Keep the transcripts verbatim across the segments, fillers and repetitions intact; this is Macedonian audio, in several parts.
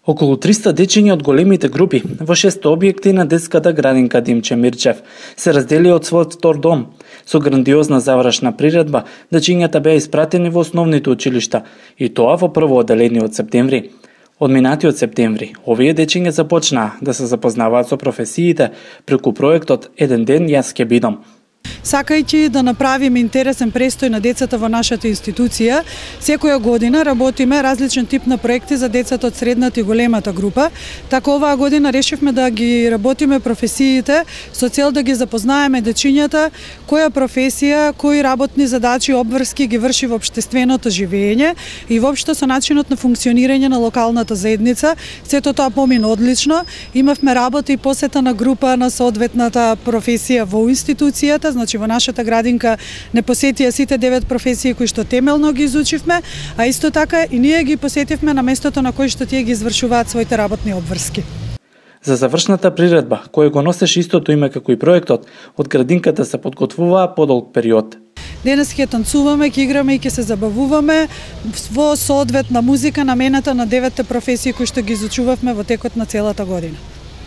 Околу триста дечиња од големите групи во шест објекти на детската градинка Димче Мирчев се раздели од својот втор дом. Со грандиозна завршна приредба, дечињата беа испратени во основните училишта, и тоа во прво одделение од септември. Од минатиот септември, овие дечиња започнаа да се запознаваат со професиите преку проектот Еден ден јас ќе бидам. Сакајќи да направиме интересен престој на децата во нашата институција, секоја година работиме различен тип на проекти за децата од средната и големата група. Така оваа година решивме да ги работиме професиите со цел да ги запознаеме дечињата која професија, кои работни задачи обврски ги врши во општественото живење и воопшто со начинот на функционирање на локалната заедница. Сето тоа помина одлично. Имавме работа и посета на група на соодветната професија во институцијата. Значи во нашата градинка не посетија сите девет професии кои што темелно ги изучивме, а исто така и ние ги посетивме на местото на кој што тие ги извршуваат своите работни обврски. За завршната приредба, која го носеше истото име како и проектот, од градинката се подготвуваа подолг период. Денес ќе танцуваме, ќе играме и ќе се забавуваме во соодветна музика намената на деветте професии кои што ги изучувавме во текот на целата година.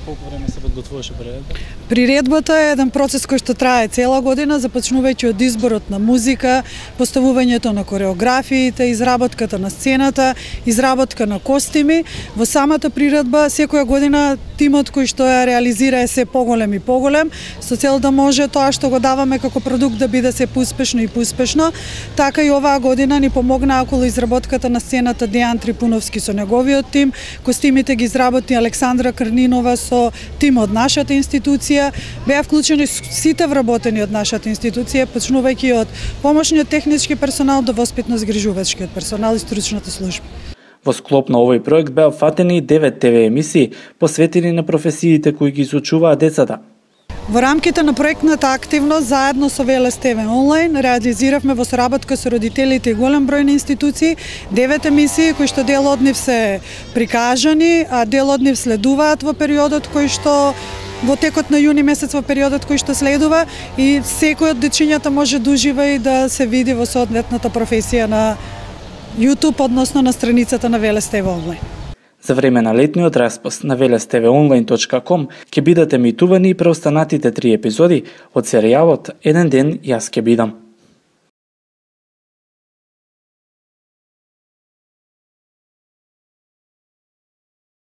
Колку време се подготвуваше приредба? Приредбата е еден процес кој што трае цела година, започнувајќи од изборот на музика, поставувањето на кореографиите, изработката на сцената, изработка на костими. Во самата приредба секоја година тимот кој што ја реализира е се поголем и поголем, со цел да може тоа што го даваме како продукт да биде се поуспешно и поуспешно. Така и оваа година ни помогна околу изработката на сцената Дејан Трипуновски со неговиот тим, костимите ги изработи Александра Крнинова со тим од нашата институција. Беа вклучени сите вработени од нашата институција, почнувајќи од помошниот технички персонал до воспитно-згрижувачкиот персонал и стручната служба. Во склоп на овој проект беа фатени девет те ве емисии посветени на професиите кои ги изучуваат децата. Во рамките на проектната активност, заедно со Велес те ве онлайн, реализиравме во соработка со родителите и голем број на институции девет емисии кои што дел од нив се прикажани, а дел од нив следуваат во периодот кој што во текот на јуни месец, во периодот кој што следува, и секој од дечињата може да ужива и да се види во соодветната професија на YouTube, односно на страницата на Велес те ве онлайн. За време на летниот распост на велес те ве онлайн точка ком ќе бидат емитувани и преостанатите три епизоди од серијалот Еден ден јас ќе бидам.